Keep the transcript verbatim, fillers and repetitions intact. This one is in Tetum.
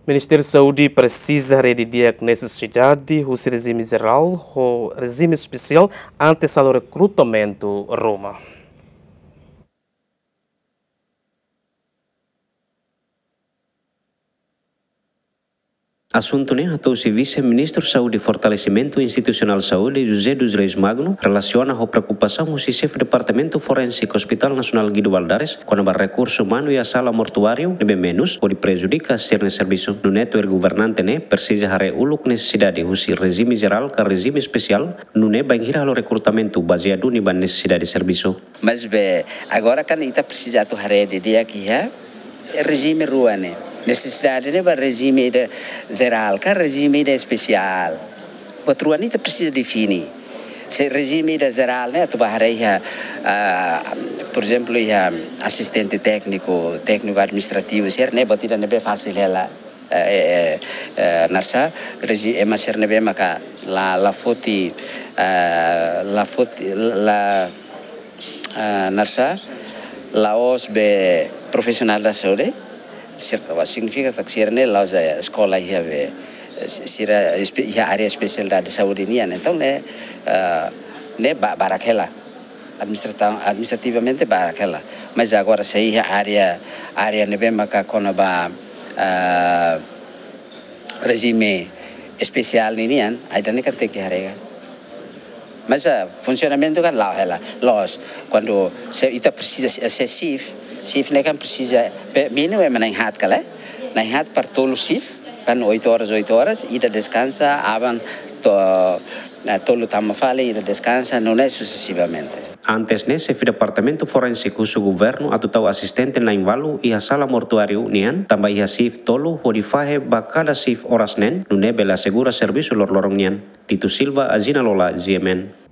Ministériu Saúde presiza haree didi'ak nesesidade husi rejime jerál ho rejime espesiál antes halo rekrutamentu ruma. Asuntu ne'e hato'o husi Vise-Ministru Saúde Fortalesimentu Institusionál Saúde, José dos Reis Magno, relasiona ho preokupasaun husi Xefe Departamentu Forénsiku Hospital Nasionál Guido Valadares kona-ba rekursu umanu iha sala mortuáriu ne'ebé menus, hodi prejudika sira-nia servisu. Nune'e tuir governante ne'e presiza haree uluk nesesidade husi rejime jerál ka rejime espesiál, nune'e bainhira halo rekrutamentu bazeia duni ba nesesidade servisu. Maibé agora kan ita presiza atu haree didi'ak iha rejime rua ne'e. Nesesidade ne'e ba rejime ida jerál ka rejime ida espesiál. Buat rua ne'e ita presiza define. Se rejime ida jerál ne'e atu ba haree iha, ah, por ezemplu, iha asistente tékniku, tékniku administrativu, sira ne'e buat ida ne'ebé fasil hela. Eh, eh, eh, eh, naran sá, rejime ema sira ne'ebé maka la, la foti, eh, la foti, la, eh, naran sá, la'ós be profesionál da saúde, sira, signifika katak sira ne'e la'ós, eh, eskola iha be, eh, si-, sira espe-, iha área espesialidade saúde nian. Entaun ne'e, eh, ne'e ba-, barak hela. Administrata-, administrativamente barak hela. Mas agora se iha área, área ne'ebé maka kona-ba, ah, rejime espesiál ninian, ida-ne'e kan tenke haree. Mas, ah, funsionamentu kan la'o hela. Loos, kuandu se ita presiza se, se shift, shift ne'e kan presiza, pe-, mínimu ema na'in-haat kala, na'in-haat para tolu shift, kan oito horas, oito horas, ida deskansa, aban to, eh, tolu tama fali, ida deskansa, nune'e susesivamente. Antes ne'e, Xefe Departamentu Forénsiku husu governu atu tau asistente na'in-ualu iha sala mortuáriu nian, tanba iha shift tolu hodi fahe ba kada shift oras neen, nune'e bele asegura servisu loroloron nian. Tito Silva, Azina Lola, G M N.